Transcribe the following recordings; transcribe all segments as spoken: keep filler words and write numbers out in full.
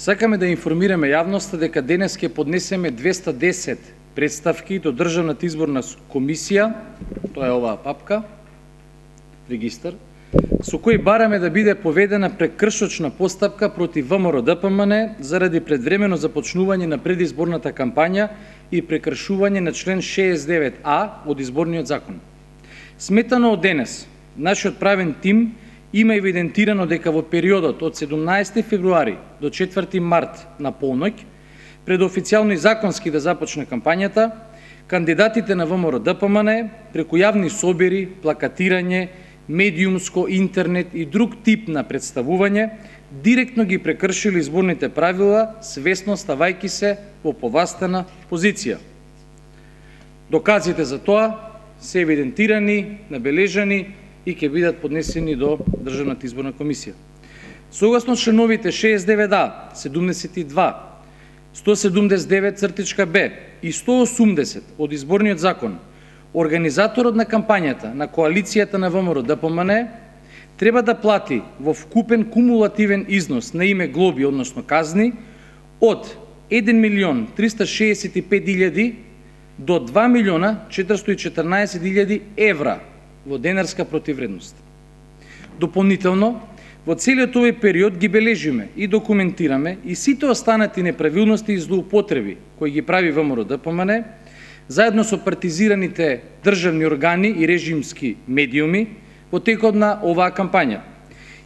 Сакаме да информираме јавноста дека денес ќе поднесеме двеста десет представки до Државната изборна комисија, тоа е оваа папка, регистар, со кој бараме да биде поведена прекршочна постапка против ВМРО-ДПМН заради предвремено започнување на предизборната кампања и прекршување на член шеесет и девет а од изборниот закон. Сметано од денес, нашиот правен тим има евидентирано дека во периодот од седумнаесети февруари до четврти март на полноќ, пред официјално и законски да започне кампањата, кандидатите на ВМРО-ДПМН преку јавни собери, плакатирање, медиумско, интернет и друг тип на представување, директно ги прекршили изборните правила, свесно ставајќи се во повластена позиција. Доказите за тоа се евидентирани, набележани и ќе бидат поднесени до Државната изборна комисија. Согласно членовите шеесет и девет а, седумдесет и два, сто седумдесет и девет б и сто осумдесет од изборниот закон, организаторот на кампањата на коалицијата на ВМРО-ДПМН треба да плати во вкупен кумулативен износ на име глоби, односно казни, од еден милион триста шеесет и пет илјади до два милиона четиристотини и четрнаесет илјади евра во денарска противвредност. Дополнително, во целиот овој период ги бележиме и документираме и сите останати неправилности и злоупотреби кои ги прави ВМРО-ДПМН, заедно со партизираните државни органи и режимски медиуми во текот на оваа кампања.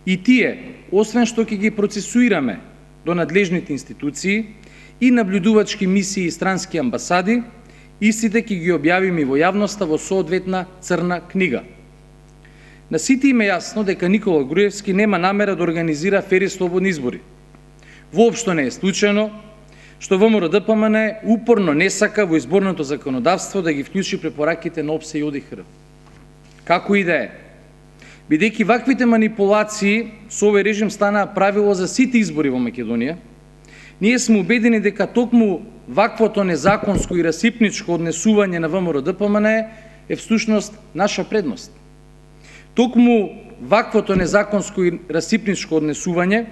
И тие, освен што ќе ги процесуираме до надлежните институции и наблюдувачки мисии и странски амбасади, истите ќе ги објавиме во јавноста во соодветна црна книга. На сите им е јасно дека Никола Груевски нема намера да организира фери слободни избори. Воопшто не е случајно што ВМРО-ДПМН упорно не сака во изборното законодавство да ги вклучи препораките на ОПСЕ и ОДИХР. Како и да е, бидејќи ваквите манипулации со овој режим станаа правило за сите избори во Македонија, ние сме убедени дека токму ваквото незаконско и расипничко однесување на ВМРО-ДПМН е всушност наша предност. Токму ваквото незаконско и расипничко однесување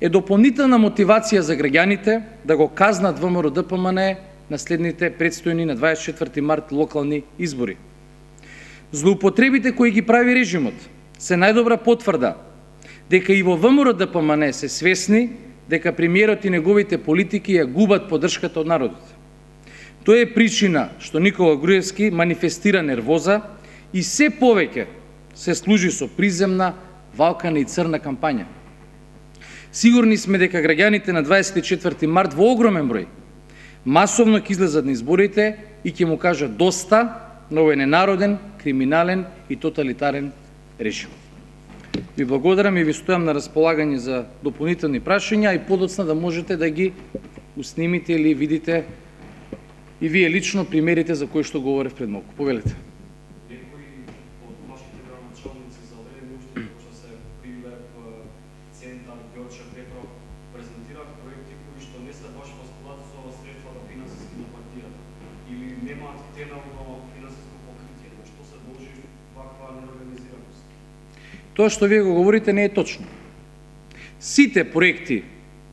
е дополнителна мотивација за граѓаните да го казнат ВМРО-ДПМН на следните предстојни на дваесет и четврти март локални избори. Злоупотребите кои ги прави режимот се најдобра потврда дека и во ВМРО-ДПМН се свесни дека премиерот и неговите политики ја губат поддршката од народот. Тоа е причина што Никола Груевски манифестира нервоза и се повеќе се служи со приземна, валкана и црна кампања. Сигурни сме дека граѓаните на дваесет и четврти март во огромен број масовно ќе излезат на изборите и ќе му кажат доста на овој ненароден, криминален и тоталитарен режим. Ви благодарам и ви стојам на располагање за дополнителни прашања и подоцна да можете да ги уснимите или видите и вие лично примерите за кои што говорев пред малку. Повелете. Тоа што вие го говорите не е точно. Сите проекти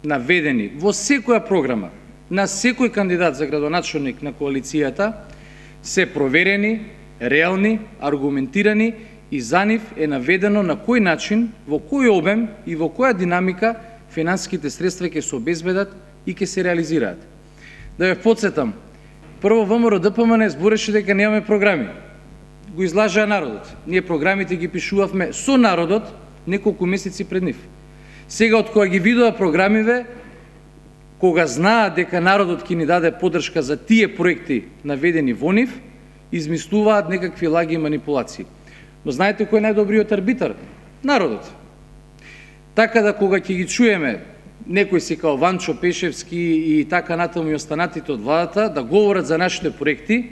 наведени во секоја програма на секој кандидат за градоначелник на коалицијата се проверени, реални, аргументирани и за нив е наведено на кој начин, во кој обем и во која динамика финансиските средства ќе се обезбедат и ќе се реализираат. Да ве потсетам, прво ВМРО-ДПМН збореше дека немаме програми. Го излажаа народот. Ние програмите ги пишувавме со народот неколку месеци пред нив. Сега, од кога ги видува програмиве, кога знаат дека народот ќе ни даде поддршка за тие проекти наведени во нив, измислуваат некакви лаги и манипулации. Но знаете кој е најдобриот арбитар? Народот. Така да кога ќе ги чуеме некои си као Ванчо Пешевски и така натаму и останатите од владата да говорат за нашите проекти,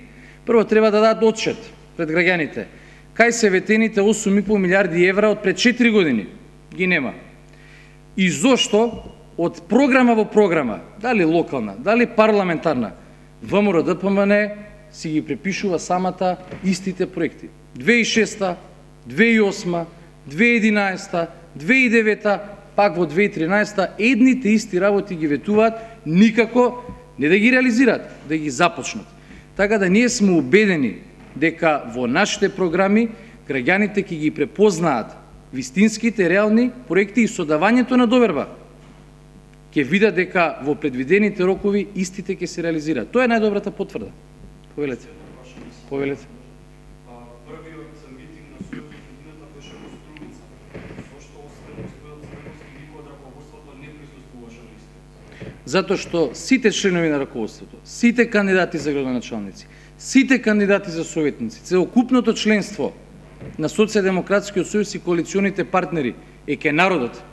прво треба да дадат отчет пред граѓаните. Кај се ветените осум и пол милиарди евра од пред четири години? Ги нема. И зошто од програма во програма, дали локална, дали парламентарна, ВМРО-ДПМН си ги препишува самата истите проекти. две тисучи и шеста, две тисучи и осма, две тисучи и единаесета, две тисучи и девета, пак во две илјади и тринаесетта едните исти работи ги ветуваат, никако не да ги реализираат, да ги започнат. Така да ние сме убедени дека во нашите програми граѓаните ќе ги препознаат вистинските реални проекти и со давањето на доверба ќе видат дека во предвидените рокови истите ќе се реализираат. Тоа е најдобрата потврда. Повелете. Повелете. Првиот митинг на Сојузот годината беше во Струмица. Зошто освен господинот Црновски никој од раководството не присуствуваше на истиот? Затоа што сите членови на раководството, сите кандидати за градоначалници, сите кандидати за советници, целокупното членство на Социјалдемократскиот сојуз и коалиционите партнери е ке народот.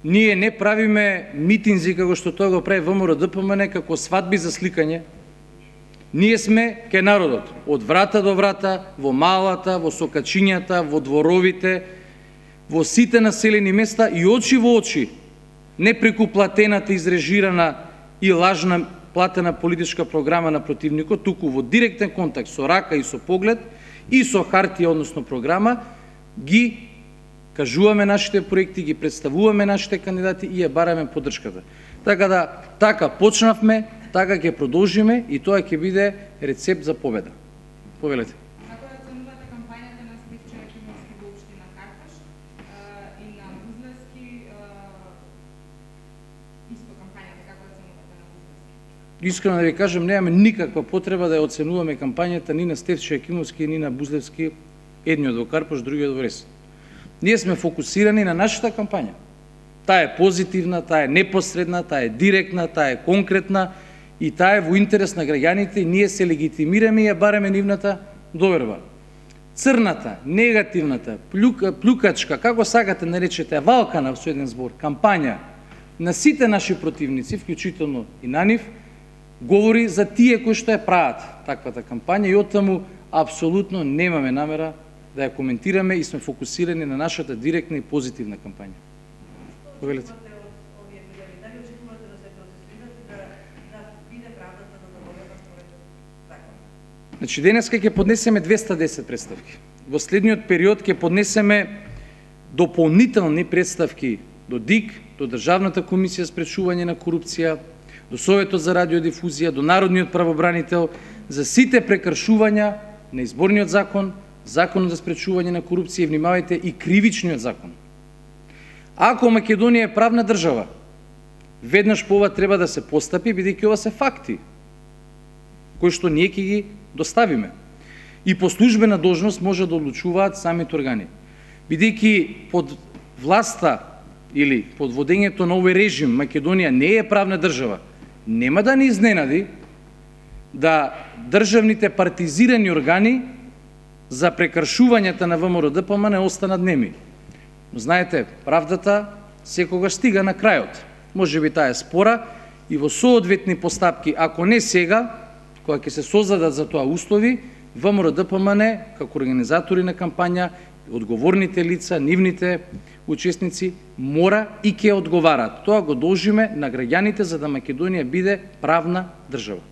Ние не правиме митинзи како што тоа го прави ВМРО-ДПМН како свадби за сликање. Ние сме ке народот, од врата до врата, во малата, во сокачињата, во дворовите, во сите населени места и очи во очи, не преку платената, изрежирана и лажна платена политичка програма на противникот, туку во директен контакт со рака и со поглед и со хартија, односно програма, ги кажуваме нашите проекти, ги представуваме нашите кандидати и ја бараме поддршката. Така да, така почнавме, така ќе продолжиме и тоа ќе биде рецепт за победа. Повелете. Како ја оценувате кампањата на Стефчо Јакимовски во општина Карташ и на Бузлевски, исто кампањата, како ја оценувате на Бузлевски? Искрено да ви кажам, немаме никаква потреба да ја оценуваме кампањата ни на Стефчо Јакимовски, ни на Бузлевски, едниот во Карпаш, другиот во Рес. Ние сме фокусирани на нашата кампања. Таа е позитивна, таа е непосредна, таа е директна, таа е конкретна и таа е во интерес на граѓаните и ние се легитимираме и ја бараме нивната доверба. Црната, негативната, плюка, плюкачка, како сакате наречете, валкана со еден збор, кампања на сите наши противници, вклучително и на нив, говори за тие кои што ја прават таквата кампања и оттаму апсолутно немаме намера да ја коментираме и сме фокусирани на нашата директна и позитивна кампања. Повелете. Значи, денеска ќе поднесеме двеста и десет представки. Во следниот период ќе поднесеме дополнителни представки до ДИК, до Државната комисија за спречување на корупција, до Советот за радиодифузија, до Народниот правобранител, за сите прекршувања на изборниот закон, Законот за спречување на корупција и, внимавајте, и кривичниот закон. Ако Македонија е правна држава, веднаш по ова треба да се постапи, бидејќи ова се факти, кои што ние ќе ги доставиме. И по службена должност може да одлучуваат самите органи. Бидејќи под власта или под водењето на овој режим Македонија не е правна држава, нема да ни изненади да државните партизирани органи за прекршувањата на ВМРО-ДПМН останат неми. Но знаете, правдата секогаш стига на крајот. Може би таа е спора и во соодветни постапки, ако не сега, кога ќе се создадат за тоа услови, ВМРО-ДПМН како организатори на кампања, одговорните лица, нивните учесници мора и ќе одговараат. Тоа го должиме на граѓаните за да Македонија биде правна држава.